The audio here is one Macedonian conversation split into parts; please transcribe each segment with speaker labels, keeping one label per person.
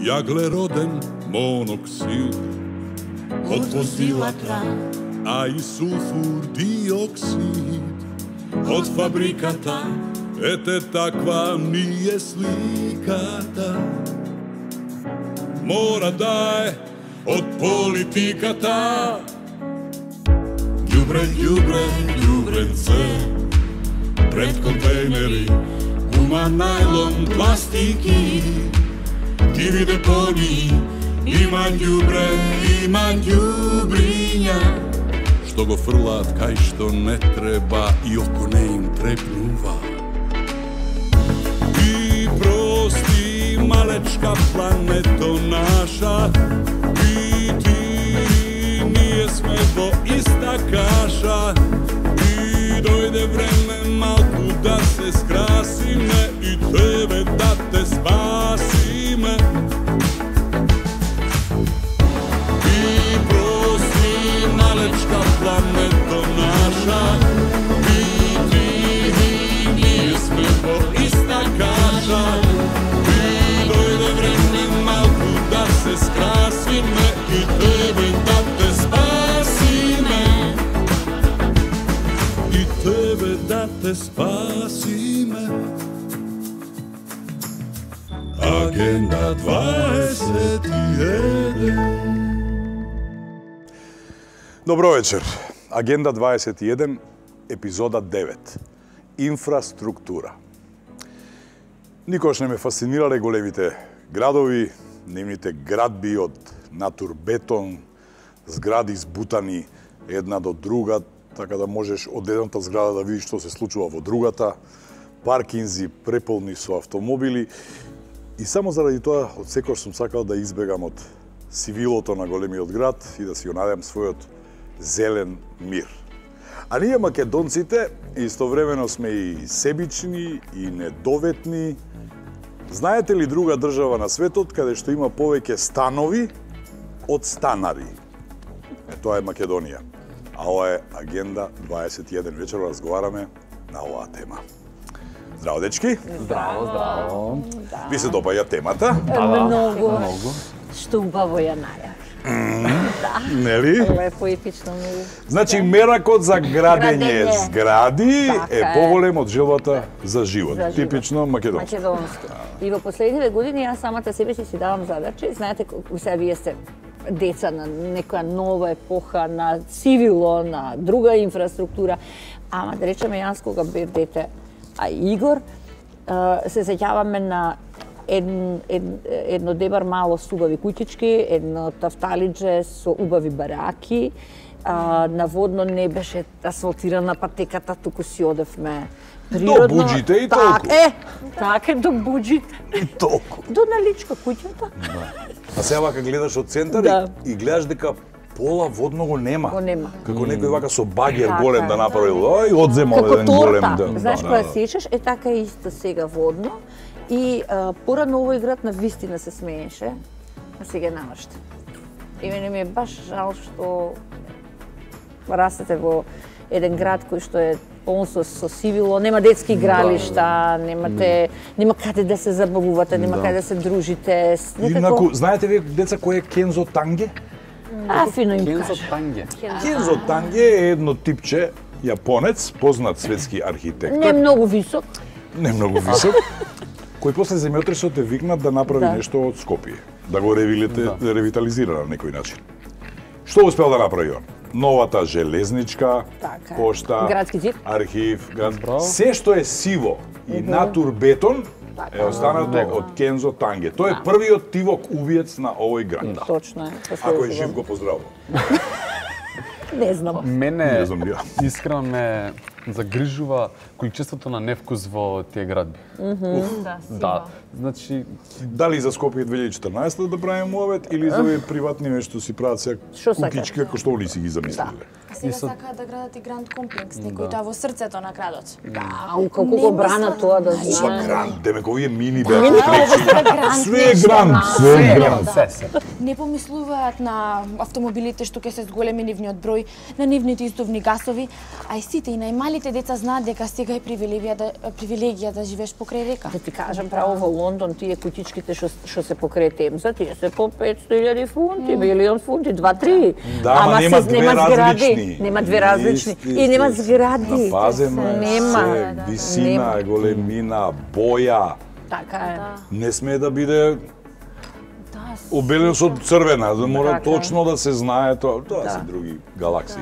Speaker 1: јаглероден моноксид од возилата, а и сулфур диоксид од фабриката. Ете таква ми е сликата. Мора да е од политиката. Ѓубре, ѓубре, ѓубренце пред контейнери, гума, најлон, пластики, диви депони, има ѓубре, има ѓубриња, што го фрлаат кај што не треба и око не им трепнува. И прости, малечка плането наша, и ти, ние сме во иста каша, и дојде време малку да се скрасиме и тебе да те спасиме. И прости, малечка плането наша, и ти, ние сме во иста каша, и дојде време малку да се скрасиме и тебе да те спасиме. И тебе да те спасиме. Агенда 21.
Speaker 2: Добро вечер. Агенда 21, епизода 9. Инфраструктура. Никош не ме фасцинирале големите градови, нивните градби од натурбетон, згради избутани една до друга, така да можеш од едната зграда да видиш што се случува во другата, паркинзи преполни со автомобили. И само заради тоа, од секој сум сакал да избегам од сивилото на големиот град и да си го најдем својот зелен мир. А ние македонците истовремено сме и себични и недоветни. Знаете ли друга држава на светот каде што има повеќе станови од станари? Тоа е Македонија. А ова е Агенда 21. Вечер разговараме на оваа тема. Здраво, дечки!
Speaker 3: Здраво, здраво.
Speaker 2: Ви се допаѓа темата?
Speaker 4: Многу. Што убаво ја најавиш.
Speaker 2: Нели?
Speaker 4: Лепо епично многу.
Speaker 2: Значи, меракот за градење згради е поголем од желбата за живот. Типично македонски.
Speaker 4: Македонски. И во последниве години јас самата себе си давам задачи. Знаете, сега вие сте деца на некоја нова епоха, на цивило, на друга инфраструктура. Ама да речеме јас кога бев дете, а Игор, се сеќаваме на едно дебар мало со убави куќички, едно тафталидже со убави бараки, наводно не беше асфалтирана патеката, туку си одевме природно.
Speaker 2: До Буџите и толку.
Speaker 4: Така, до Буџите.
Speaker 2: И толку.
Speaker 4: До Наличка куќата.
Speaker 2: А сега вака гледаш од центар и гледаш дека пола водно го нема.
Speaker 4: Го нема.
Speaker 2: Како некој вака со багер голем да направил, и одземал еден голем.
Speaker 4: Знаеш, кога сечеш, така е исто сега водно. И порано овој град на вистина се смееше, а сега намашта. И мене ми е баш жал што растете во еден град кој што е полн со сивило, нема детски игралишта, нема каде да се забавувате, нема каде да се дружите.
Speaker 2: Инаку, знаете вие деца кој е Кензо Танге?
Speaker 4: Фино им
Speaker 3: Кензо
Speaker 4: кажа.
Speaker 3: Танге.
Speaker 2: Кензо Танге е едно типче јапонец, познат светски архитектор.
Speaker 4: Не многу висок.
Speaker 2: Не многу висок. Кој после земјотресот е викнат да направи нешто од Скопје, да го ревитализира на некој начин. Што успел да направи он? Новата железничка, пошта,
Speaker 4: градски зид,
Speaker 2: архив, се што е сиво и натурбетон е останато од Кензо Танге. Тој е првиот тивок убиец на овој град.
Speaker 4: Точно е.
Speaker 2: Ако е жив, го поздравувам.
Speaker 4: Не знам.
Speaker 3: Мене искрено ме загрижува количеството на невкус во тие градби. Да. Значи,
Speaker 2: дали за Скопје 2014 да правиме муавет или за овие приватни нешто си прават сега кукички како што ли си ги замислиле?
Speaker 5: Сега сакаат да градат и гранд комплекс, некој таа во срцето на градот.
Speaker 4: Како го брана тоа да
Speaker 2: Ова
Speaker 4: знае.
Speaker 2: гранд, демек овие мини беа све е гранд,
Speaker 5: Не помислуваат на автомобилите што ќе се зголеми нивниот број, на нивните истовни гасови, а и сите и најмали малите деца знаат дека сега е привилегија да живееш покрај река.
Speaker 4: Да ти кажам право, во Лондон тие кутичките што се покрај Темза, тие се по 500.000 фунти, милион фунти, 2-3.
Speaker 2: Да, ама нема две различни.
Speaker 4: Нема две различни. И нема згради.
Speaker 2: Напазено е се, висина, големина, боја.
Speaker 4: Така е.
Speaker 2: Не смее да биде обелен со црвена, мора точно да се знае тоа. Тоа се други галаксии,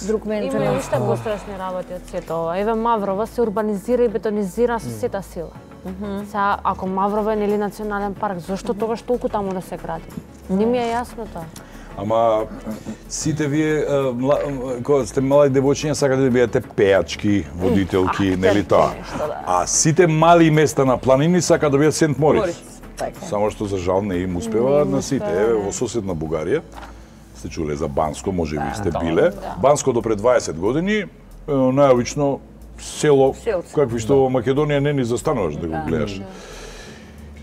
Speaker 4: Друг менталитет.
Speaker 6: Има уште пострашни работи од сето ова. Еве Маврово се урбанизира и бетонизира со сета сила. Сега, ако Маврово е нели национален парк, зошто тогаш толку таму да се гради? Не ми е јасно тоа.
Speaker 2: Ама сите вие кога сте мали девојчиња сакате да бидете пејачки, водителки, нели тоа. А сите мали места на планини сакаат да бидат Сент Морис. Само што за жал не им успева на сите. Еве во соседна Бугарија сте чуле за Банско, може би сте биле. Банско до пред 20 години најобично село какви што во Македонија не ни застануваш да го гледаш.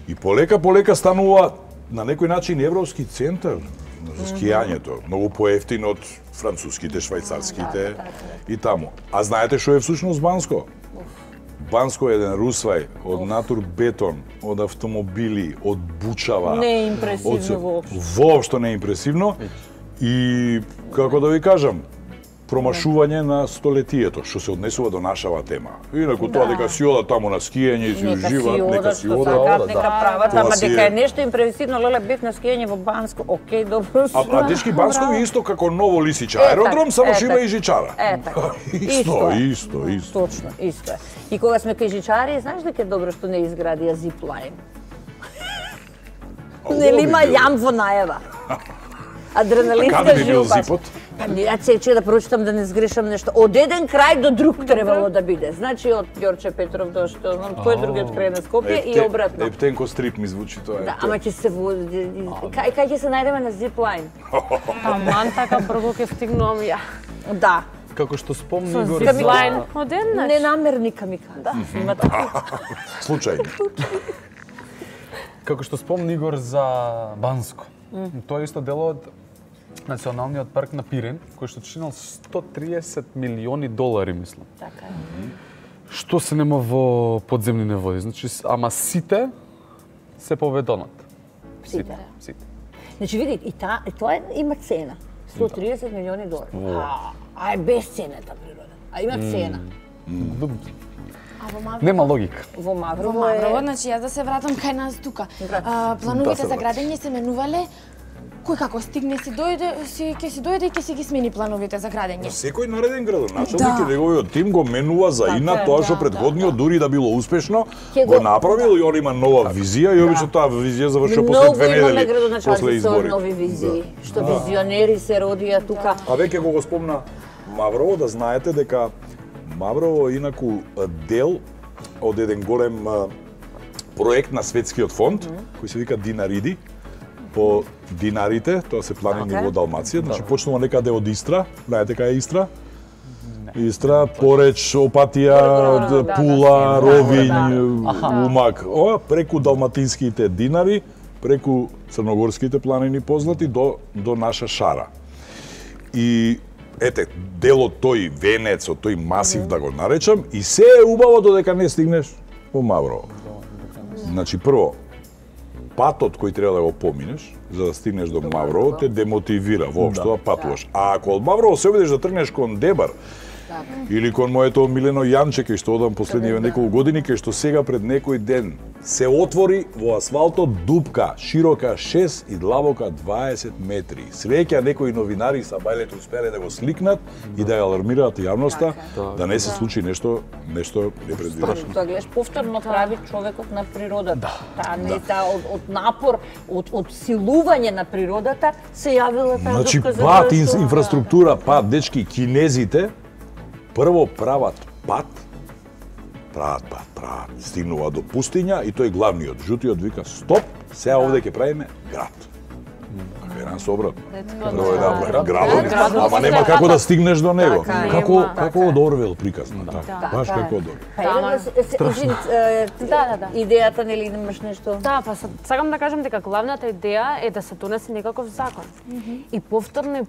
Speaker 2: И полека станува на некој начин европски центар за скијањето, многу поевтин од француските, швајцарските и таму. А знаете што е всушност Банско? Банско е еден русвај од натурбетон, од автомобили, од бучава.
Speaker 4: Не е импресивно воопшто.
Speaker 2: Воопшто не е импресивно. И, како да ви кажам, промашување на столетието, што се однесува до нашава тема. Инаку тоа дека си одат таму на скијање и си уживаат, нека си одат.
Speaker 4: Нека прават, ама дека е нешто импресивно, леле бев на скијање во Банско, окей, добро.
Speaker 2: А дечки Банско е исто како Ново Лисиче аеродром, само што има и жичара.
Speaker 4: Така.
Speaker 2: Исто.
Speaker 4: Точно, исто е. И кога сме кај жичари, знаеш дека е добро што не изградија зиплайн? Нели има јам во најава? Адреналинска жилба. Па ја ќе да прочитам да не сгрешам нешто. Од еден крај до друг требало да биде. Значи од Ѓорче Петров до што знам кој другиот крај на Скопје и обратно.
Speaker 2: Ептенко стрип ми звучи тоа.
Speaker 4: Да, ама ќе се кај ќе се најдеме на зиплайн.
Speaker 6: Таман така брзо ќе стигнувам ја.
Speaker 4: Да.
Speaker 3: Како што спомни
Speaker 6: Со
Speaker 3: Игор
Speaker 6: зиплайн одеднаш.
Speaker 4: Ненамерни камикадзе. Има така.
Speaker 2: Случајно.
Speaker 3: Како што спомни Игор за Банско. Тоа е исто дел од Националниот парк на Пирен, кој што чинал $130 милиони, мислам.
Speaker 4: Така е.
Speaker 3: Што се нема во подземните води. Значи, ама сите се поведонат.
Speaker 4: Сите.
Speaker 3: Значи,
Speaker 4: види, и тоа има цена. $130 милиони. А е безценета природа. А има цена.
Speaker 3: Нема логика.
Speaker 4: Во Маврово,
Speaker 5: значи јас да се вратам кај нас тука. Плановите за градење се менувале кој како стигне ќе си дојде и ќе си ги смени плановите за градење.
Speaker 2: Секој нареден градоначалник и неговиот тим го менува за инат тоа што предходниот дури да било успешно го направил и он има нова визија и обично таа визија завршува после 2 недели после избори.
Speaker 4: Нови визии, што визионери се родија тука.
Speaker 2: А веќе го спомна Маврово, да знаете дека Маврово е инаку дел од еден голем проект на Светскиот фонд, кој се вика Динариди, по динарите, тоа се планини во Далмација, значи почнува некаде од Истра, знаете кај е Истра? Истра, Пореч, Опатија, Пула, Ровињ, Умак, преку далматинските динари, преку црногорските планини познати до наша Шара. И ете, дел од тој венец, од тој масив да го наречам, и се е убаво додека не стигнеш во Маврово. Значи прво, патот кој треба да го поминеш за да стигнеш до Маврово те демотивира воопшто да патуваш. А ако од Маврово се обидеш да тргнеш кон Дебар или кон моето омилено Јанче кај што одам последниве неколку години, кај што сега пред некој ден се отвори во асфалтот дупка широка 6 и длабока 20 метри. Среќа некои новинари са бајлето успеле да го сликнат и да ја алармираат јавноста да не се случи нешто непредвидено.
Speaker 4: Тоа гледаш повторно прави човекот на природата. Таа од напор, од силување на природата се јавила таа
Speaker 2: значи,
Speaker 4: дупка за
Speaker 2: пат, инфраструктура, пат, дечки, кинезите прво прават пат, стигнува до пустиња и тој главниот, жутиот вика стоп, сега овде ќе правиме град. Така се обратно.
Speaker 6: Претходно,
Speaker 2: Тоа е
Speaker 6: да.
Speaker 2: да градот,
Speaker 6: Градот
Speaker 2: ама
Speaker 6: се
Speaker 2: нема
Speaker 6: така.
Speaker 2: како да стигнеш до него.
Speaker 4: Така е.
Speaker 2: Како од Орвел приказна, така. Баш како од Орвел.
Speaker 4: Па
Speaker 6: Да,
Speaker 4: идејата нели имаш нешто?
Speaker 6: Да, па сакам да кажам дека главната идеја е да се донесе некаков закон. И повторно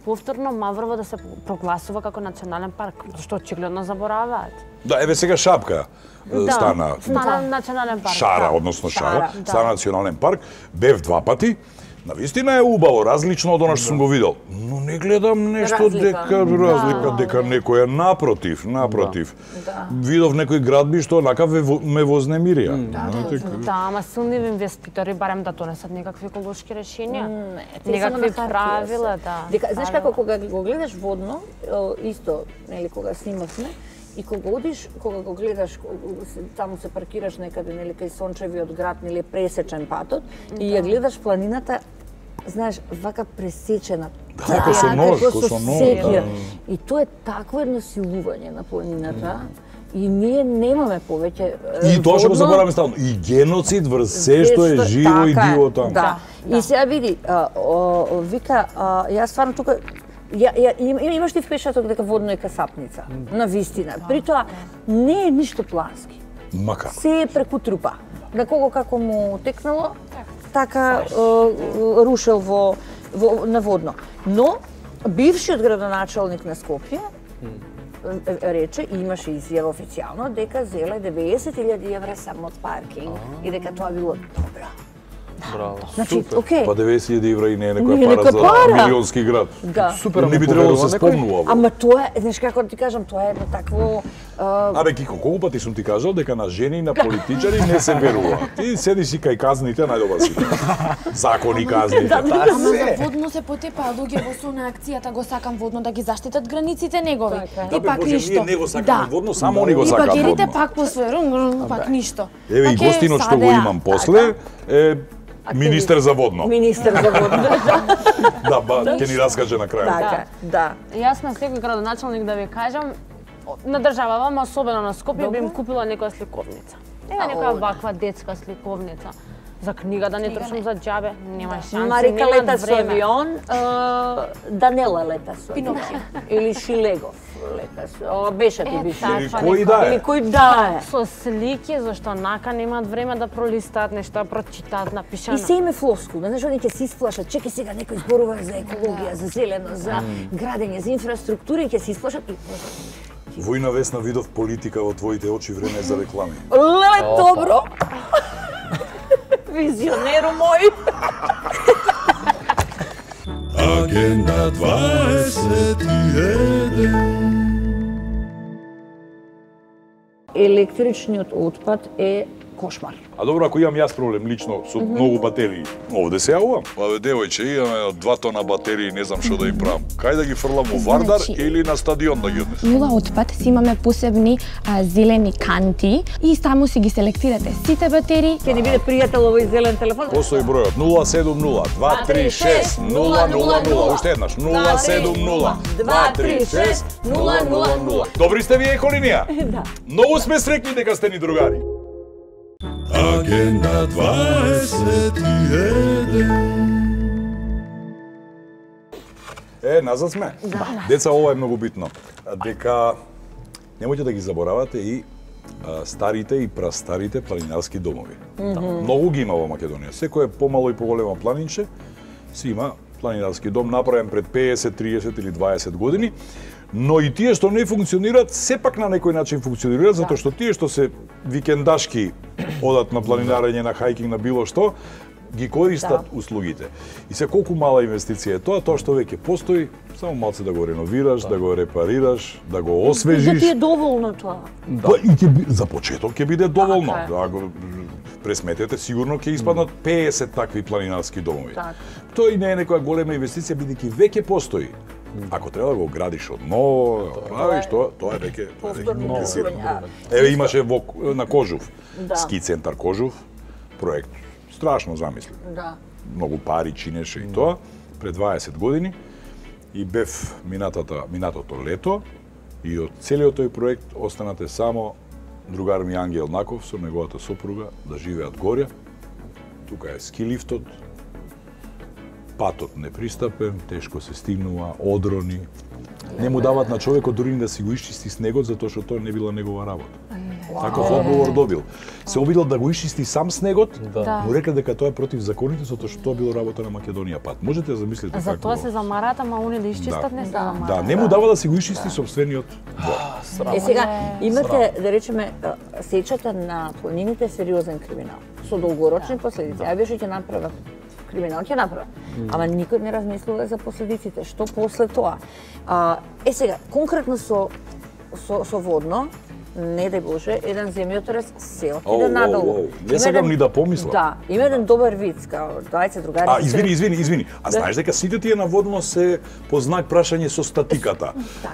Speaker 6: Маврово да се прогласува како национален парк, што очигледно забораваат.
Speaker 2: Да, еве сега Шапка стана
Speaker 6: национален парк.
Speaker 2: Шара,
Speaker 6: да.
Speaker 2: односно Шара, стана национален парк. Бев 2 пати. Навистина е убаво, различно од она што сум го видел. Но не гледам нешто разлика, дека некој е напротив. Видов некои градби што онака ме вознемирија.
Speaker 6: Да, ама силни инвеститори барем да донесат некакви еколошки решенија.
Speaker 4: Те
Speaker 6: Некакви
Speaker 4: само на
Speaker 6: правила,
Speaker 4: хартија се.
Speaker 6: да.
Speaker 4: Дека знаеш како кога го гледаш водно, исто, нели кога снимавме, и кога одиш, кога го гледаш, таму се паркираш некаде, нели кај сончевиот град, нели пресечен патот, и ја гледаш планината, знаеш, вака пресечена.
Speaker 2: како со нож,
Speaker 4: како
Speaker 2: со нож,
Speaker 4: секир.
Speaker 2: да.
Speaker 4: И тоа е такво едно силување на планината. И ние немаме повеќе
Speaker 2: И тоа што го
Speaker 4: водно.
Speaker 2: забораваме стално. И геноцид врз се што е живо и
Speaker 4: Така е,
Speaker 2: диво таму.
Speaker 4: Да. И сега види, вика, јас стварно тука имаш ти впечаток дека водно е касапница, на вистина. При тоа не е ништо плански.
Speaker 2: Мака.
Speaker 4: Се е преку трупа. На кого како му текнало, така рушел на водно. Но бившиот градоначалник на Скопје рече, и имаше изјава официјално, дека зеле 90.000 евра само од паркинг и дека тоа било добро.
Speaker 3: Браво.
Speaker 4: Значи, окей.
Speaker 2: Па 90.000 евра и не е
Speaker 4: Не е
Speaker 2: некоја пара
Speaker 4: нека
Speaker 2: за
Speaker 4: пара.
Speaker 2: милионски град.
Speaker 4: Да.
Speaker 3: Супер,
Speaker 2: Не би
Speaker 3: ама
Speaker 2: требало да се
Speaker 3: поверува некој?
Speaker 2: спомнува. ово.
Speaker 4: Ама тоа е, знаеш како да ти кажам, тоа е едно такво
Speaker 2: Абе, Кико, колку пати сум ти кажал дека на жени и на политичари не се верува. Ти седи си кај казните, најдобар си. Закони казните.
Speaker 5: Ама за водно се потепаа луѓе во сона акцијата, го сакам водно да ги заштитат границите негови.
Speaker 4: Така
Speaker 5: И пак ништо.
Speaker 2: Ние не го сакаме
Speaker 5: Да.
Speaker 2: водно, само они го
Speaker 5: И
Speaker 2: сакаат
Speaker 5: багерите
Speaker 2: водно.
Speaker 5: пак по свој пак ништо.
Speaker 2: Еве и
Speaker 5: Пак е
Speaker 2: гостинот што го
Speaker 5: садеа.
Speaker 2: имам после е министер за водно.
Speaker 4: министер за водно.
Speaker 2: Да, ќе ни раскаже на крај.
Speaker 4: Така, да.
Speaker 6: Јас на секој градоначалник да ви кажам, на државава, ама особено на Скопје, би им купила некоја сликовница. Ева некоја ваква детска сликовница. За книга да не трчам за џабе, нема шанси,
Speaker 4: Марика
Speaker 6: нема
Speaker 4: лета со
Speaker 6: време.
Speaker 4: авион, Данела лета со авион.
Speaker 5: Пинокио.
Speaker 4: Или Шилегов лета со... Беше ти биш.
Speaker 2: Или
Speaker 6: Таква
Speaker 2: кој да
Speaker 4: Или
Speaker 2: е.
Speaker 4: кој да е.
Speaker 6: Со слики, зашто нака немаат време да пролистаат нешто, да прочитаат напишано.
Speaker 4: И се име флоскул, знаеш, они ќе се исплашат, чекај сега некој зборува за екологија, за зелено, за градење, за инфраструктура и ќе се исплашат и
Speaker 2: Војна Весна видов политика во твоите очи, време е за реклами.
Speaker 4: леле добро. Визионеру мој.
Speaker 1: Агенда 21.
Speaker 4: Електричниот отпад е кошмар.
Speaker 2: А добро, ако имам јас проблем лично со многу батерии, овде се јавувам. Па бе, девојче, имаме 2 тона батерии, не знам што да им правам. Кај да ги фрлам во Вардар
Speaker 5: Значи-
Speaker 2: или на стадион да ги однесам?
Speaker 5: Нула отпад си имаме посебни зелени канти и таму си ги селектирате сите батерии.
Speaker 4: Ќе ни биде пријател овој зелен телефон.
Speaker 2: Постои бројот 070 236 000. Уште еднаш 070 236 000. Добри сте вие еколинија?
Speaker 4: Да.
Speaker 2: Многу сме среќни дека сте ни другари.
Speaker 1: Агенда 21.
Speaker 2: Назад сме. Деца, ова е многу битно. Дека немојте да ги заборавате и старите и прастарите планинарски домови. Многу ги има во Македонија. Секој е помало и поголема планинче, си има планинарски дом направен пред 50, 30 или 20 години. Но и тие што не функционираат, сепак на некој начин функционираат, затоа што тие што се викендашки одат на планинарење, на хајкинг, на било што, ги користат услугите. И се колку мала инвестиција е тоа што веќе постои, само малце да го реновираш, да го репарираш, да го
Speaker 4: Да
Speaker 2: освежиш.
Speaker 4: ти е доволно тоа.
Speaker 2: Па и за почеток ќе биде доволно.
Speaker 4: Така е.
Speaker 2: Да го пресметете, сигурно ќе испаднат 50 такви планинарски домови.
Speaker 4: Така.
Speaker 2: Тоа и не е некоја голема инвестиција, бидејќи веќе постои. Ако треба да го градиш од ново, да го правиш, тоа е веќе
Speaker 4: Повторно
Speaker 2: комплицирано.
Speaker 4: оборудување.
Speaker 2: Еве имаше на Кожув,
Speaker 4: Да.
Speaker 2: ски центар Кожув, проект страшно замислен.
Speaker 4: Да.
Speaker 2: Многу пари чинеше и тоа пред 20 години и бев минатото лето и од целиот тој проект останате само другар ми Ангел Наков со неговата сопруга да живеат горе. Тука е ски лифтот, патот непристапен, тешко се стигнува, одрони. Не му дават на човекот дури да си го исчисти снегот, затоа што тоа не била негова работа. Таков одговор добил. Се обидел да го исчисти сам снегот, му рекла дека тоа е против законите, затоа што тоа било работа на Македонија пат. Можете да замислите како.
Speaker 6: За тоа се замарат, ама они да исчистат не се замарат.
Speaker 2: Да, не му дава да си го исчисти собствениот двор.
Speaker 4: Сега, имате, да речеме, сечата на планините сериозен криминал, со долгорочни последици. Ја беше ќе направат криминал, ќе направат. Ама никој не размислува за последиците. Што после тоа? Сега, конкретно со водно, не дај Боже, еден земјотрес се отиде надолу.
Speaker 2: Не сакам ни да помислам.
Speaker 4: Да, има еден добар виц, као двајца другари.
Speaker 2: Извини. А знаеш дека сите тие наводно се по знак прашање со статиката.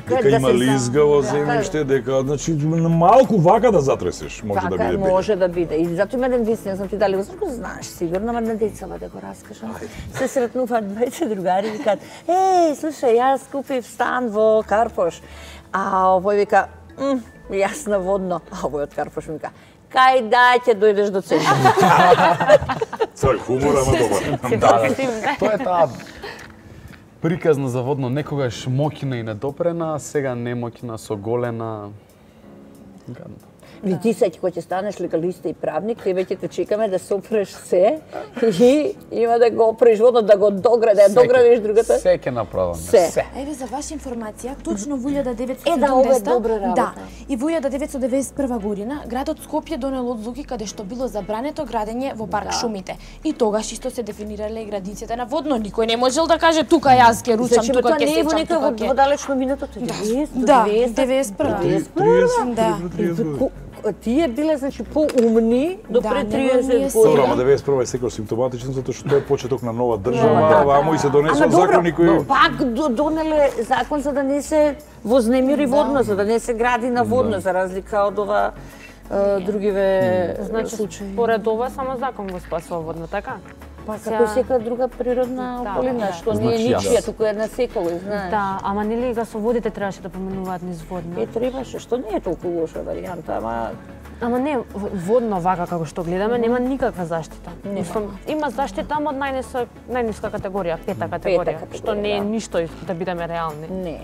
Speaker 2: Дека има лизгаво земјиште, дека значи малку вака да затресеш, може да биде.
Speaker 4: Може да биде. И затоа има еден виц, не знам ти дали го знаеш, сигурно, ама на децава да го раскажам. Се сретнуваат двајца другари и викаат: "Еј, слушај, јас купив стан во Карпош." А овој вика: "Јас на водно." А овој од Карпош вика: "Кај да ќе дојдеш до центарот?"
Speaker 2: Цој хумор, ама добар.
Speaker 3: Тоа е таа приказна за водно, некогаш мокина и недопрена, сега немокина, соголена. Гадно.
Speaker 4: Ти сеќа кога ќе станеш легалиста и правник, тебе ќе те чекаме да сопреш се и има да го опреш водно, да го доградиш другата.
Speaker 3: Се ќе направам.
Speaker 4: Се.
Speaker 5: Еве за ваша информација, точно во 1990
Speaker 4: ова е добра работа.
Speaker 5: Да, и во 1991 година градот Скопје донел одлуки каде што било забрането градење во парк Шумите. И тогаш исто се дефинирале и градиците на водно. Никој не можел да каже тука јас ќе ручам, тука ќе сечам, тука ќе.
Speaker 4: Во далечно минутото 90,
Speaker 5: Да, 91. Да.
Speaker 4: Тие биле значи поумни до пред 30
Speaker 2: Добро, ама
Speaker 4: години.
Speaker 2: 91 е секој симптоматичен затоа што тоа е почеток на нова држава, вамо и се донесува закони кои
Speaker 4: Пак донеле закон за да не се вознемири водно, за да не се гради на водно, за разлика од ова другиве случаи.
Speaker 6: Според ова само закон го спасува водно, така?
Speaker 4: Па како секоја друга природна околина, што не е ничија, туку е на секој, знаеш.
Speaker 6: Да, ама нели гасоводите требаше да поминуваат низ водно?
Speaker 4: Требаше, што не е толку лоша варијанта,
Speaker 6: Ама не, водно вака како што гледаме, нема никаква заштита. Има заштита, ама од најниска категорија, пета категорија, што не е ништо да бидеме реални.
Speaker 4: Не.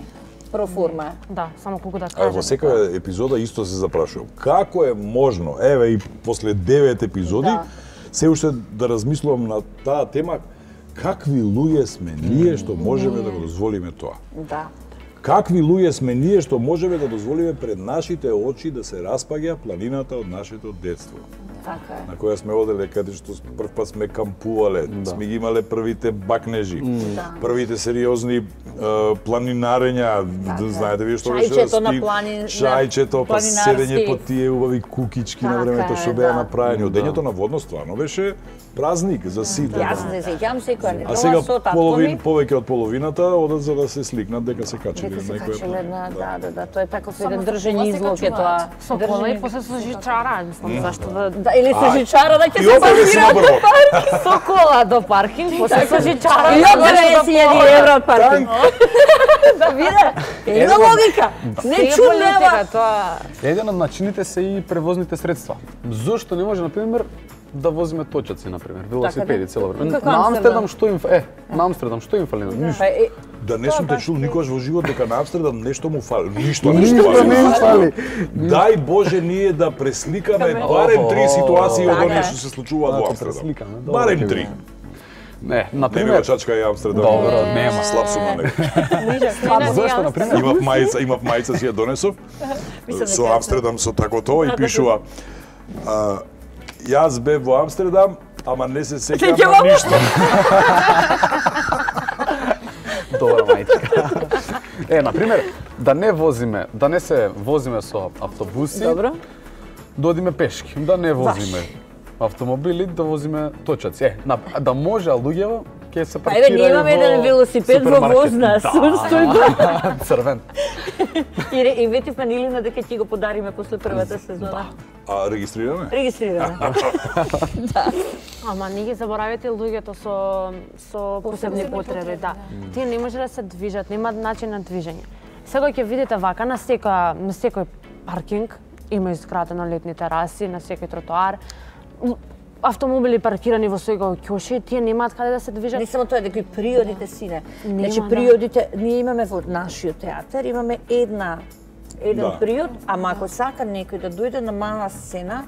Speaker 4: Проформа.
Speaker 6: Да, само колку да кажам.
Speaker 2: Во секоја епизода исто се запрашувам. Како е можно, еве и после 9 епизоди, се уште да размислувам на таа тема, какви луѓе сме ние што можеме да го дозволиме тоа?
Speaker 4: Да.
Speaker 2: Какви луѓе сме ние што можеме да дозволиме пред нашите очи да се распаѓа планината од нашето детство?
Speaker 4: Така е.
Speaker 2: На која сме оделе, каде што прв пат сме кампувале, сме ги имале првите бакнежи, првите сериозни планинарења, знаете вие што беше
Speaker 4: Чајчето на планин,
Speaker 2: чајчето, па седење по тие убави кукички на времето што беа направени. Одењето на водно стварно беше празник за сите.
Speaker 4: Јас не сеќам секоја
Speaker 2: А сега повеќе од половината одат за да се сликнат дека се качиле на некоја.
Speaker 4: Да, тоа е таков еден држен излог е тоа.
Speaker 6: Со кола и после со жичара, мислам, зашто да
Speaker 4: или со жичара да ќе
Speaker 2: се паркира.
Speaker 6: Со кола до паркинг, после со жичара.
Speaker 4: И од 20.000 евро од паркинг. Да виде, има логика. Не чудева.
Speaker 3: Еден од начините се и превозните средства. Зошто не може, например, да возиме точаци, например, велосипеди цело време. На Амстердам што им на Амстердам што им фали? Ништо.
Speaker 2: Да не сум те чул никогаш во живот дека на Амстердам нешто му фали. Ништо
Speaker 3: не фали.
Speaker 2: Дај Боже ние да пресликаме барем 3 ситуации од оние што се случуваат во Амстердам. Барем 3.
Speaker 3: Не, например,
Speaker 2: не го чачка ја Амстердам.
Speaker 3: Добро, нема.
Speaker 2: Слаб сум на него.
Speaker 3: Зошто, например?
Speaker 2: Имав мајца си ја донесов со Амстердам со такото и пишува јас бев во Амстердам, ама не се сеќам на ништо.
Speaker 3: Добра мајчка. Например, да не се возиме со автобуси.
Speaker 4: Добро.
Speaker 3: Да одиме пешки, да не возиме автомобили, да возиме точаци. Да може луѓето ќе се паркираат.
Speaker 4: Еве, ние имаме еден велосипед во возна, стои
Speaker 3: да. Црвен.
Speaker 4: И ветивме Илина дека ќе го подариме после првата сезона.
Speaker 2: А регистрираме?
Speaker 4: Регистрираме.
Speaker 6: Да. Ама не ги заборавите луѓето со посебни потреби, да. Тие не може да се движат, немаат начин на движење. Сега ќе видите вака на секој паркинг има изградено летни тераси, на секој тротоар. автомобили паркирани во свој ќоши, тие немаат каде да се движат.
Speaker 4: Не само тоа, дека и приодите сине. Значи приодите, ние имаме во нашиот театар, имаме еден приод, ама ако сака некој да дојде на мала сцена,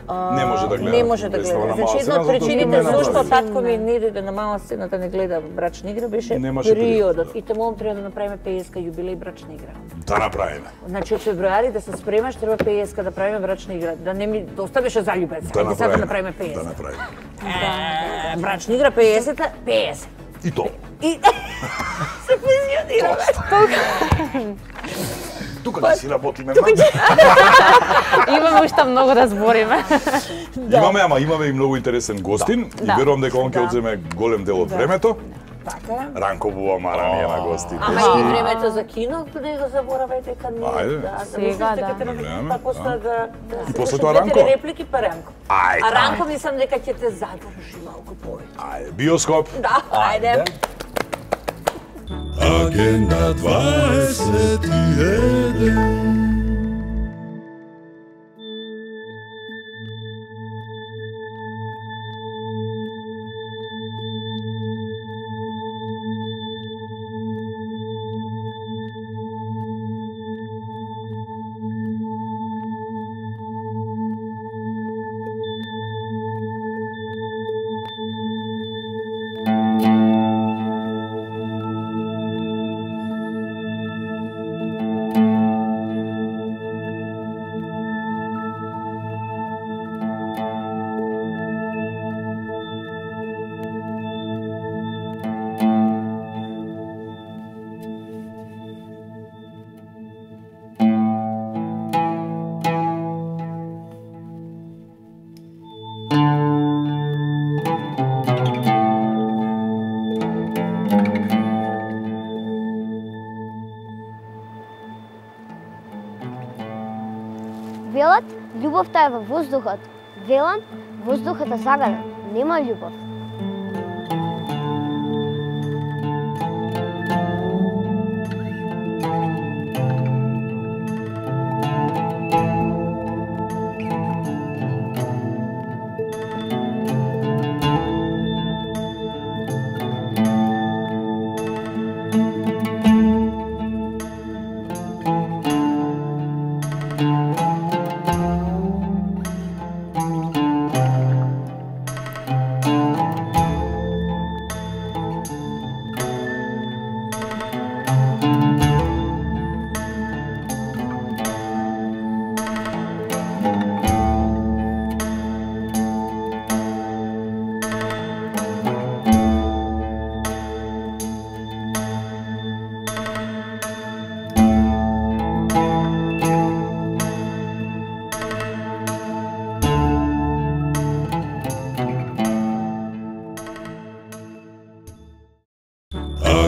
Speaker 2: не може да гледа.
Speaker 4: Не може да гледа. Значи една од причините зашто татко ми не дојде на мала сцена да не гледа Брачна игра беше приодот. И таму треба да направиме 50-ка јубилеј Брачна игра.
Speaker 2: Да направиме.
Speaker 4: Значи од февруари да се спремаш, треба 50-ка да правиме Брачна игра. Да не ми оставеше заљубен.
Speaker 2: Да
Speaker 4: сега направиме 50.
Speaker 2: Да направиме.
Speaker 4: Брачна игра 50-та, 50.
Speaker 2: И то.
Speaker 4: И се пензионираме.
Speaker 2: Тука не си работиме.
Speaker 6: Имаме уште многу да збориме.
Speaker 2: Имаме и многу интересен гостин и верувам дека он ќе одземе голем дел од времето.
Speaker 4: Така.
Speaker 2: Ранко Бувамара ни е на гости.
Speaker 4: Ама и времето за кино, не го заборавајте кад не.
Speaker 6: Сега да.
Speaker 2: И после тоа Ранко.
Speaker 4: Реплики па Ранко. А Ранко мислам дека ќе те задржи малку повеќе.
Speaker 2: Ајде, биоскоп.
Speaker 4: Да, ајде.
Speaker 1: Агенда 21.
Speaker 7: Велат, љубовта е во воздухот. Велам, воздухот е загаден, нема љубов.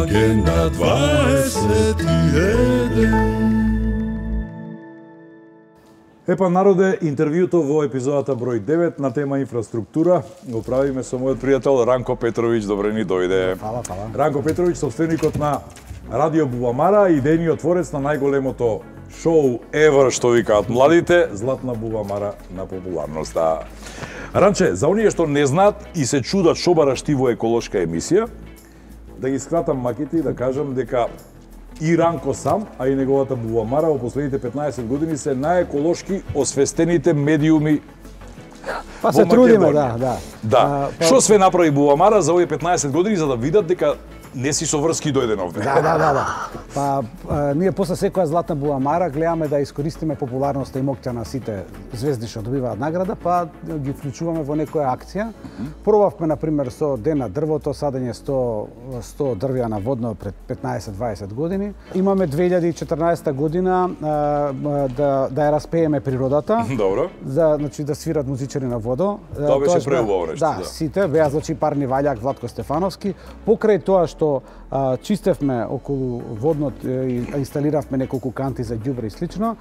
Speaker 7: Агенда 21.
Speaker 2: Епа, народе, интервјуто во епизодата број 9 на тема инфраструктура го правиме со мојот пријател Ранко Петровиќ. Добре ни дојде.
Speaker 8: Фала.
Speaker 2: Ранко Петровиќ, собственикот на Радио Бувамара, идејниот творец на најголемото шоу ever, што викаат младите, Златна Бувамара на популарноста. Ранче, за оние што не знаат и се чудат што бараш ти во еколошка емисија, да ги скратам маките и да кажам дека и Ранко сам, а и неговата Бувамара во последните 15 години се најеколошки освестените медиуми.
Speaker 8: Па се трудиме, да.
Speaker 2: Што све направи Бувамара за овие 15 години за да видат дека не си со врски дојден овде.
Speaker 8: Да. Па ние после секоја Златна Бувамара гледаме да искористиме популарноста и моќта на сите звезди што добиваат награда, па ги вклучуваме во некоја акција. Пробавме на пример со Ден на дрвото, садење 100 дрвја на водно пред 15-20 години. Имаме 2014 година да ја распееме природата.
Speaker 2: Добро.
Speaker 8: Значи да свират музичари на водо.
Speaker 2: Тоа беше преубаво нешто.
Speaker 8: Да, сите беа значи Парни Ваљак, Владко Стефановски. Покрај тоа што чистевме околу водното и инсталиравме неколку канти за ѓубре и слично.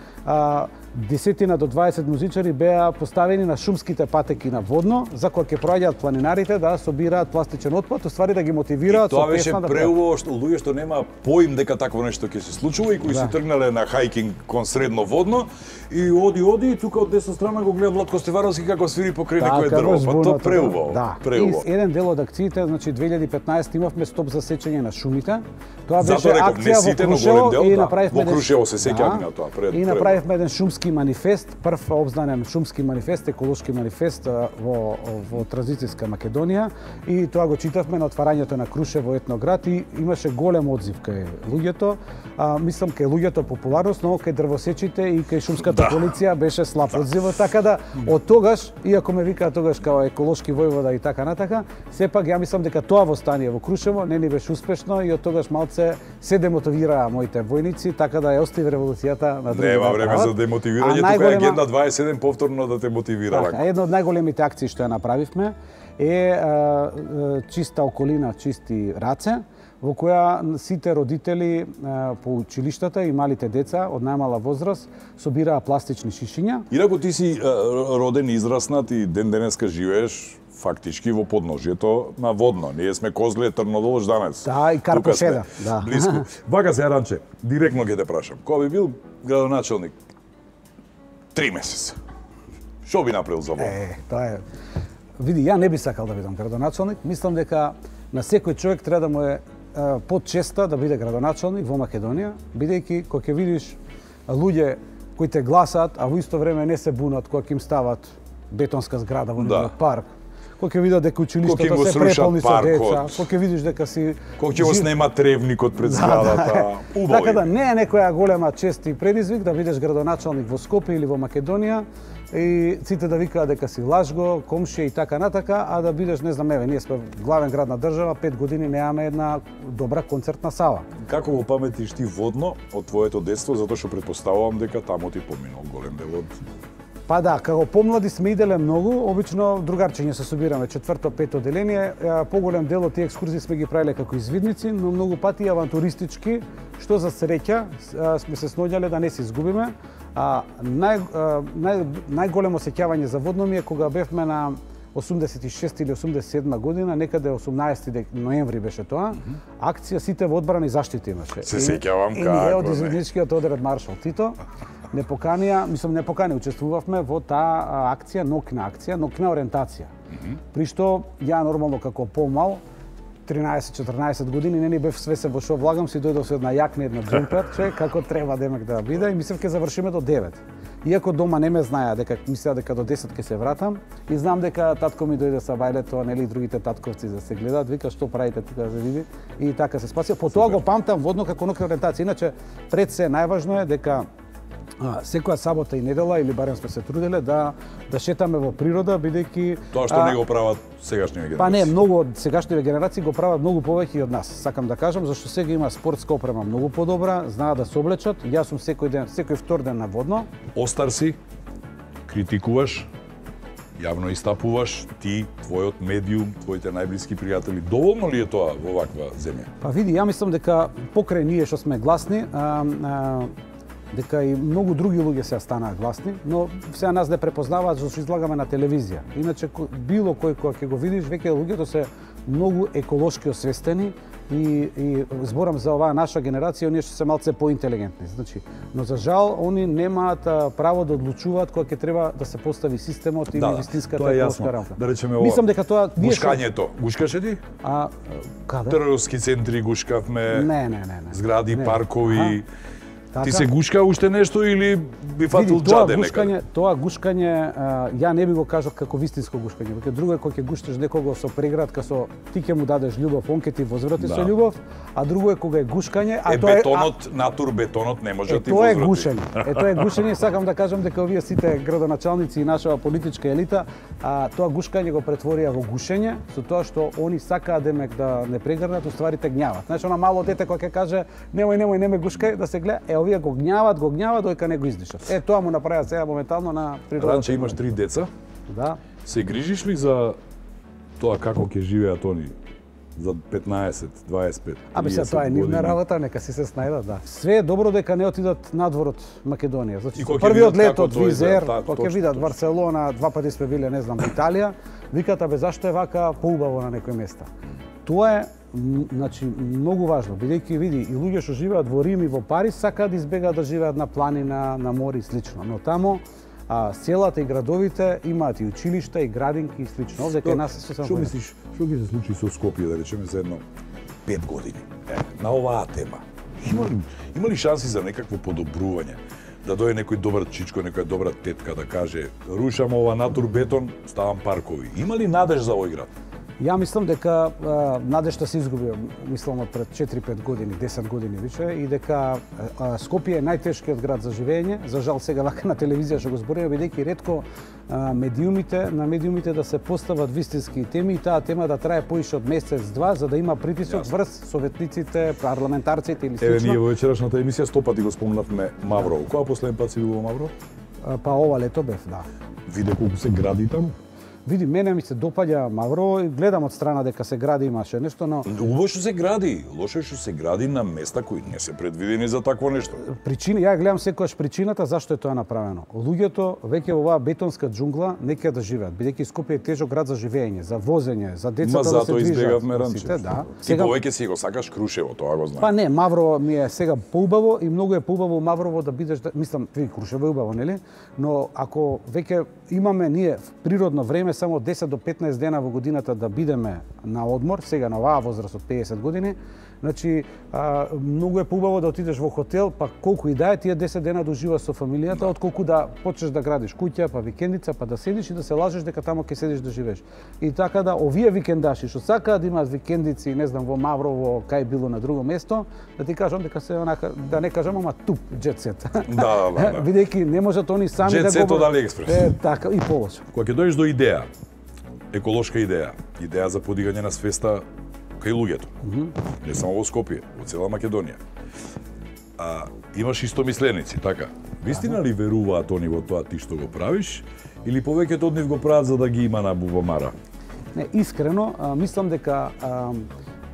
Speaker 8: 10 до 20 музичари беа поставени на шумските патеки на водно, за кога ќе проаѓаат планинарите да собираат пластичен отпад, уствари да ги мотивираат
Speaker 2: со песна. Тоа беше преубаво што луѓе што нема поим дека такво нешто ќе се случува и кои си тргнале на хајкинг кон средно водно и оди и тука од десна страна го гледа Владко Стеваровски како свири покрај некој дрво. Па тоа преубаво.
Speaker 8: Да. И еден дел од акциите, значи 2015 имавме стоп за сечење на шумите. Тоа беше акција во Крушево и направивме
Speaker 2: во Крушево се сеќаваме на тоа пред.
Speaker 8: И направивме еден шумски манифест, прв обзнанен шумски манифест, еколошки манифест во транзицијска Македонија и тоа го читавме на отварањето на Крушево етноград и имаше голем одзив кај луѓето. Мислам кај луѓето популарност, но кај дрвосечите и кај шумската полиција беше слаб одзивот, така да од тогаш, иако ме викаат тогаш као еколошки војвода и така натака, сепак ја мислам дека тоа востание во Крушево не ни беше успешно и од тогаш малце се демотивираа моите војници, така да ја остави револуцијата на другите.
Speaker 2: Нема време за демотивирање, тука е Агенда 27 повторно да те мотивира.
Speaker 8: Така, една од најголемите акции што ја направивме е чиста околина, чисти раце, во која сите родители по училиштата и малите деца од најмала возраст собираа пластични шишиња.
Speaker 2: Инаку ти си роден, израснат и ден денеска живееш фактички во подножјето на водно. Ние сме Козле, Трнодолж данес.
Speaker 8: Да, и Карпошеда. Да.
Speaker 2: Близко. Вака се, Ранче, директно ќе те прашам. Кога би бил градоначелник 3 месеца, што би направил за водно?
Speaker 8: Тоа е... Види, ја не би сакал да бидам градоначелник. Мислам дека на секој човек треба да му е подчеста да биде градоначелник во Македонија, бидејќи кога ќе видиш луѓе кои те гласаат, а во исто време не се бунат кога ќе им стават бетонска зграда во нивниот парк, кога ќе видат дека училиштата се преполни со деца, кога ќе видиш дека си...
Speaker 2: Кога ќе го снема тревникот пред зградата, убаво.
Speaker 8: Така да не е некоја голема чест и предизвик да бидеш градоначелник во Скопје или во Македонија и сите да викаат дека си лажго, комшија и така натака, а да бидеш, не знам, еве, ние сме главен град на држава, 5 години немаме една добра концертна сала.
Speaker 2: Како го паметиш ти водно од твоето детство, затоа што претпоставувам дека таму ти поминал голем дел од...
Speaker 8: Па да, како помлади сме иделе многу, обично другарчиња се собираме, 4-5 деление, поголем дел од тие екскурзии сме ги правиле како извидници, но многу пати авантуристички, што за среќа сме се сноѓале да не се изгубиме. Најголемо сеќавање за водно ми е кога бевме на 86 или 87 година, некаде 18 ноември беше тоа, акција Сите во одбрана и заштита имаше.
Speaker 2: Се сеќавам како.
Speaker 8: И од извидничкиот одред Маршал Тито не покани, учествувавме во таа акција, ноќна ориентација. При што ја нормално како помал 13-14 години не ни бев свесен во што влагам, си дојдов со една јакна, една џемперче, како треба демек да биде и мислев ќе завршиме до 9. Иако дома не ме знаја дека мислеа дека до 10 ќе се вратам и знам дека татко ми дојде со бајлето, нели другите татковци да се гледаат, вика што правите тука да види и така се спасија. По тоа го памтам водно како ноќна ориентација. Иначе пред се најважно е дека секоја сабота и недела, или барем сме се труделе да шетаме во природа, бидејќи
Speaker 2: тоа што не го прават сегашниве генерации.
Speaker 8: Па не, многу од сегашниве генерации го прават многу повеќе од нас. Сакам да кажам зашто сега има спортска опрема многу подобра, знаат да се облечат. Јас сум секој втор ден на водно.
Speaker 2: Остар си, критикуваш, јавно истапуваш, ти, твојот медиум, твоите најблиски пријатели. Доволно ли е тоа во ваква земја?
Speaker 8: Па види, ја мислам дека покрај ние што сме гласни, дека и многу други луѓе се станаа гласни, но сега нас не препознаваат зашто излагаме на телевизија. Иначе било кој кога ќе го видиш, веќе луѓето се многу еколошки освестени и зборам за оваа наша генерација, оние што се малце поинтелигентни. Значи, но за жал они немаат право да одлучуваат кога ќе треба да се постави системот и вистинската еколошка рамка.
Speaker 2: Да речеме ова.
Speaker 8: Мислам дека тоа
Speaker 2: гушкањето. Гушкаше ти?
Speaker 8: Каде?
Speaker 2: Трговски центри гушкавме.
Speaker 8: Не.
Speaker 2: Згради, паркови. Ти се гушка уште нешто или би фатил џаде некаде?
Speaker 8: Тоа гушкање, ја не би го кажал како вистинско гушкање. Веќе друго е кога ќе гушташ некого со преградка, со ти ќе му дадеш љубов, он ќе ти возврати со љубов, а друго е кога е гушкање, а тоа е
Speaker 2: бетонот, натур бетонот не може да ти
Speaker 8: возврати.
Speaker 2: Тоа
Speaker 8: е гушење. Тоа е гушење, сакам да кажам дека овие сите градоначалници и нашава политичка елита, тоа гушкање го претворија во гушење, со тоа што они сакаат демек да не прегрнат, уствари те гњават. Значи она мало дете кога ќе каже немој не ме гушкај, да се гледа, овие го гњават, дојка не го издишат. Тоа му направија сега моментално на природата.
Speaker 2: Ранче, имаш 3 деца.
Speaker 8: Да.
Speaker 2: Се грижиш ли за тоа како ќе живеат они за 15, 25.
Speaker 8: Абе се тоа е нивна работа, нека си се снајдат, да. Све е добро дека не отидат надвор од Македонија. Значи, првиот лет од Визер, кога ќе видат Барселона, 2 пати сме биле, не знам, Италија, викат, абе зашто е вака поубаво на некои места. Тоа е значи многу важно, бидејќи види и луѓе што живеат во Рим и во Париз сакаат да избегаат да живеат на планина, на море и слично, но тамо селата и градовите имаат и училишта и градинки и слично. Овде кај нас се
Speaker 2: Што мислиш, што ќе се случи со Скопје, да речеме за едно 5 години? На оваа тема. Има ли шанси за некакво подобрување? Да дојде некој добар чичко, некоја добра тетка да каже рушам ова натурбетон, ставам паркови. Има ли надеж за овој град?
Speaker 8: Ја мислам дека надежта се изгуби, мислам пред 4-5 години, 10 години више, и дека Скопје е најтешкиот град за живење. За жал сега вака на телевизија што го збориме, бидејќи ретко на медиумите да се постават вистински теми и таа тема да трае поише од месец-два, за да има притисок врз советниците, парламентарците или слично.
Speaker 2: Еве ние во вечерашната емисија 100 пати го спомнавме Мавро. Која последен пат си бил во Мавро?
Speaker 8: Па ова лето бев, да.
Speaker 2: Виде колку се гради таму?
Speaker 8: Види, мене ми се допаѓа Мавро и гледам од страна дека се гради, имаше нешто, но...
Speaker 2: Убаво што се гради, лошо што се гради на места кои не се предвидени за такво нешто.
Speaker 8: Ја гледам секогаш причината зашто е тоа направено. Луѓето веќе во оваа бетонска џунгла не ќе да живеат, бидејќи Скопје е тежок град за живење, за возење, за децата да се движат.
Speaker 2: Избегавме ранче.
Speaker 8: Да.
Speaker 2: Сега повеќе си го сакаш Крушево, тоа го знам.
Speaker 8: Па не, Мавро ми е сега поубаво и многу е поубаво Маврово да бидеш, мислам, Крушево е убаво, нели? Но ако веќе имаме ние в природно време само 10 до 15 дена во годината да бидеме на одмор, сега на оваа возраст од 50 години, значи многу е поубаво да отидеш во хотел, па колку и да е тие 10 дена да уживаш со фамилијата, отколку да почнеш да градиш куќа, па викендица, па да седиш и да се лажеш дека тамо ќе седиш да живееш. И така да овие викендаши што сакаат да имаат викендици, не знам, во Маврово, кај било на друго место, да ти кажам дека се онака, да не кажам, ама туп џет-сет.
Speaker 2: Да.
Speaker 8: Бидејќи не можат они сами да го...
Speaker 2: Џет-сет од Алиекспрес.
Speaker 8: Така, и полошо.
Speaker 2: Кога ќе дојдеш до идеја, еколошка идеја за подигање на свеста кај луѓето, не само во Скопје, во цела Македонија. Имаш истомисленици, така? Вистина ли веруваат они во тоа ти што го правиш, или повеќето од нив го прават за да ги има на бубамара?
Speaker 8: Не, искрено, мислам дека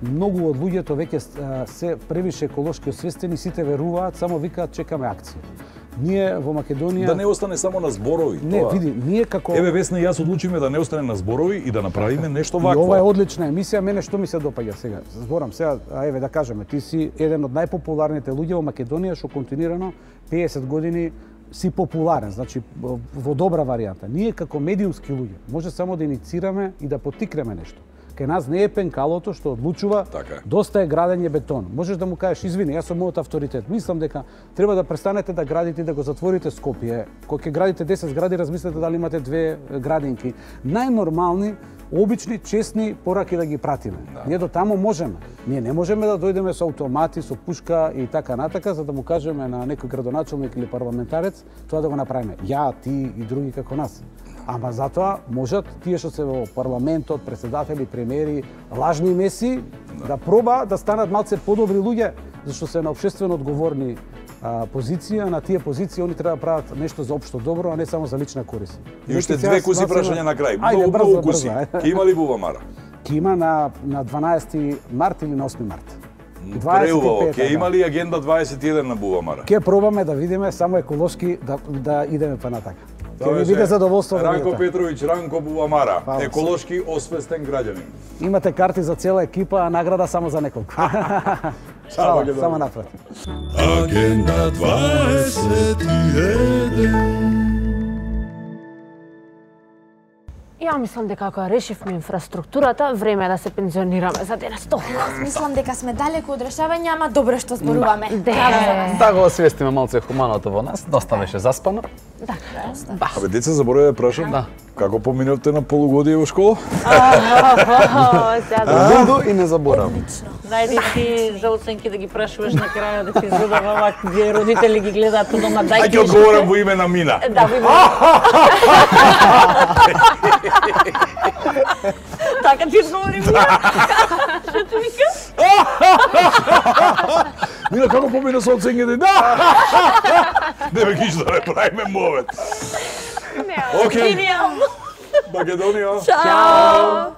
Speaker 8: многу од луѓето веќе се превише еколошки освестени, сите веруваат, само викаат чекаме акција. Ние во Македонија...
Speaker 2: Да не остане само на зборови.
Speaker 8: Не,
Speaker 2: тоа.
Speaker 8: види, ние како...
Speaker 2: Еве, Весна и јас одлучиме да не остане на зборови и да направиме нешто вакво.
Speaker 8: И ова е одлична емисија, мене што ми се допаѓа сега. Зборам сега, еве да кажеме, ти си еден од најпопуларните луѓе во Македонија што континуирано 50 години си популарен, значи во добра варијанта. Ние како медиумски луѓе може само да иницираме и да поттикнеме нешто. Кај нас не е пенкалото што одлучува доста е градење бетон. Можеш да му кажеш извини, јас сум мојот авторитет. Мислам дека треба да престанете да градите и да го затворите Скопје. Кога ќе градите 10 згради, размислете дали имате 2 градинки. Најнормални, обични, честни пораки да ги пратиме. Ние до тамо можеме. Ние не можеме да дојдеме со автомати, со пушка и така натака за да му кажеме на некој градоначелник или парламентарец тоа да го направиме. Ја, ти и други како нас. Ама затоа можат тие што се во парламентот, председатели, премиери, лажни меси, да проба да станат малце подобри луѓе, зашто се на општествено одговорни позиција, на тие позиции они треба да прават нешто за општо добро, а не само за лична корист.
Speaker 2: И уште две куси прашања на крај. Многу куси. Ке има ли бубамара?
Speaker 8: Ке има на 12 март или на 8 март.
Speaker 2: Преубаво, ке има ли агенда 21 на бубамара?
Speaker 8: Ке пробаме да видиме само еколошки да идеме па натака. Ке ви биде задоволство.
Speaker 2: Ранко Петровиќ, Ранко Бубамара, еколошки освестен граѓанин.
Speaker 8: Имате карти за цела екипа, а награда само за неколку. Само напред.
Speaker 1: Агенда 21.
Speaker 6: Ја мислам дека ако решивме инфраструктурата, време е да се пензионираме за денес толку.
Speaker 5: Мислам дека сме далеку од решавање, ама добро што зборуваме.
Speaker 3: Да го освестиме малце хуманото во нас, доста беше заспано.
Speaker 6: Да.
Speaker 2: Абе, деца, забораве да прашам.
Speaker 3: Да.
Speaker 2: Како поминавте на полугодие во школа?
Speaker 3: Лудо и не заборав.
Speaker 4: Најди ти за оценки да ги прашуваш на крајот, да ти задава овако, где родители ги гледаат по дома, дај
Speaker 2: ќе одговорам во име на Мина.
Speaker 4: Да, во име. Така ти одговори Мина. Што ти вика?
Speaker 2: Мина, како помина со оценките? Да! Не ме киш да не правиме мовет. Океј. Македонија.
Speaker 4: Чао.